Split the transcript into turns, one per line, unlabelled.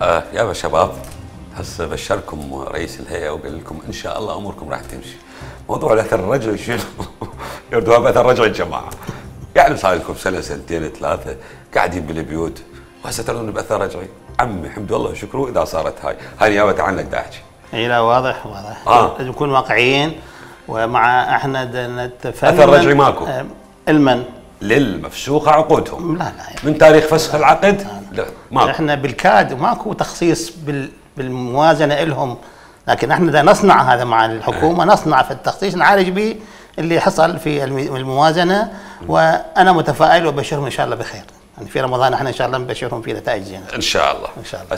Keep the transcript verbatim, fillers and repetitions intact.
آه يا شباب، هسه بشركم رئيس الهيئه وقال لكم ان شاء الله اموركم راح تمشي. موضوع الاثر الرجعي شنو؟ يردوها باثر رجعي الجماعه. يعني صار لكم سنه سنتين ثلاثه قاعدين بالبيوت وهسه ترون باثر رجعي. عمي حمد الله وشكره اذا صارت هاي، هاي نيابه عنك دا احكي.
اي لا واضح واضح.
آه.
لازم نكون واقعيين ومع احنا نتفنن.
اثر رجعي ماكو.
آه المن
للمفسوخه عقودهم.
لا لا
من تاريخ فسخ العقد لا ماكو.
احنا بالكاد ماكو تخصيص بال بالموازنه لهم، لكن احنا دا نصنع هذا مع الحكومه، نصنع في التخصيص نعالج به اللي حصل في الموازنه. وانا متفائل وبشرهم ان شاء الله بخير. يعني في رمضان احنا ان شاء الله نبشرهم في نتائج زينه
ان شاء الله.
ان شاء الله.